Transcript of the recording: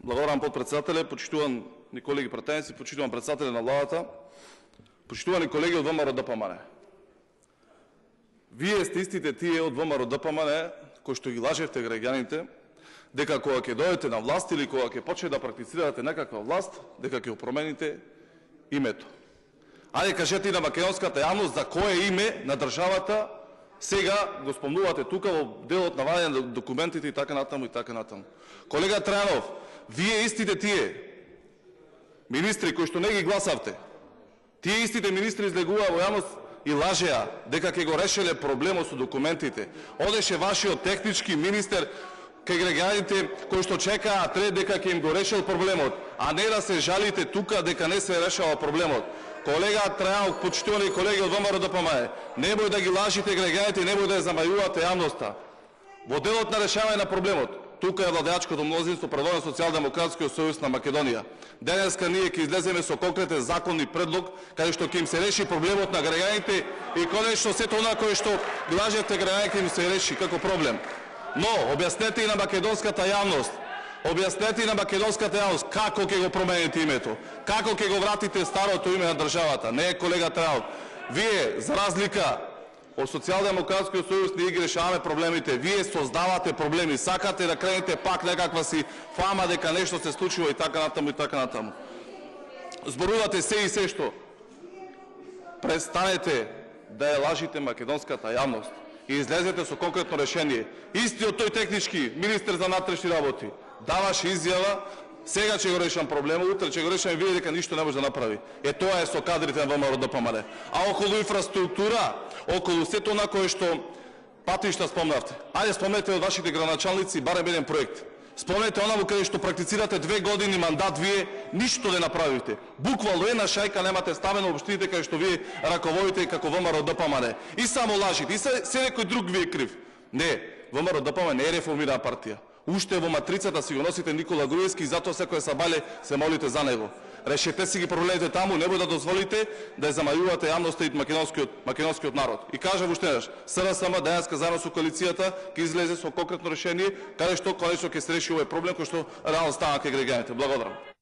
Благодарам, подпредседателе, почитуван ни колеги пратеници, почитуван председателе на владата, почитувани колеги од ВМРО-ДПМНЕ. Вие сте истите тие од ВМРО-ДПМНЕ кои што ги лажевте граѓаните дека кога ќе дојдете на власт или кога ќе почнете да практицирате некаква власт, дека ќе промените името. Ајде кажете и на македонската јавност за кое име на државата сега го спомнувате тука во делот на вадење на документите и така натаму и така натаму. Колега Трајанов, вие истите тие министри кои што не ги гласавте, тие истите министри излегуваа во јавност и лажеа дека ќе го решеле проблемот со документите. Одеше вашиот технички министер кај граѓаните кои што чекаат ред дека ќе им го решил проблемот, а не да се жалите тука дека не се решава проблемот. Колега Трајанов, почитувани колеги од ВМРО-ДПМНЕ, немој да ги лажите граѓаните и немој да ја замајувате јавноста. Во делот на решавање на проблемот, тука е владеачкото мнозинство предводено Социјалдемократскиот сојуз на Македонија. Денеска ние ќе излеземе со конкретен закони предлог каде што ќе им се реши проблемот на граѓаните и конечно сето она кое што ги лажете граѓаните им се реши како проблем. Но објаснете и на македонската јавност, како ќе го промените името, како ќе го вратите старото име на државата. Не, колега Трајанов, вие за разлика од Социјалдемократскиот сојуз ние ги решаваме проблемите, вие создавате проблеми, сакате да кренете пак некаква си фама дека нешто се случува и така натаму и така натаму. Зборувате се и се што. Престанете да ја лажите македонската јавност и излезете со конкретно решение. Истиот тој технички министер за внатрешни работи даваше изјава, сега ќе го решам проблемот, утре ќе го решам и види дека ништо не може да направи. Тоа е со кадрите на ВМРО-ДПМНЕ. А околу инфраструктура, околу сето она кое што патишта спомнавте. Ајде спомнете од вашите градоначалници барем еден проект. Спомнете онаму каде што практицирате 2 години мандат, вие ништо не направивте. Буквално една шајка немате ставено во општините каде што вие раководите како ВМРО-ДПМНЕ. И само лажите, и се некој друг ви е крив. Не, ВМРО-ДПМНЕ не е реформирана партија. Уште во матрицата си го носите Никола Груевски и затоа секој сабале се молите за него. Решете си ги проблемите таму, немој да дозволите да ја замајувате јавноста и македонскиот народ. И кажав уште еднаш, СРСМ денеска заедно со коалицијата ќе излезе со конкретно решение каде што конечно ќе се реши овој проблем кој што реално стана кај граѓаните. Благодарам.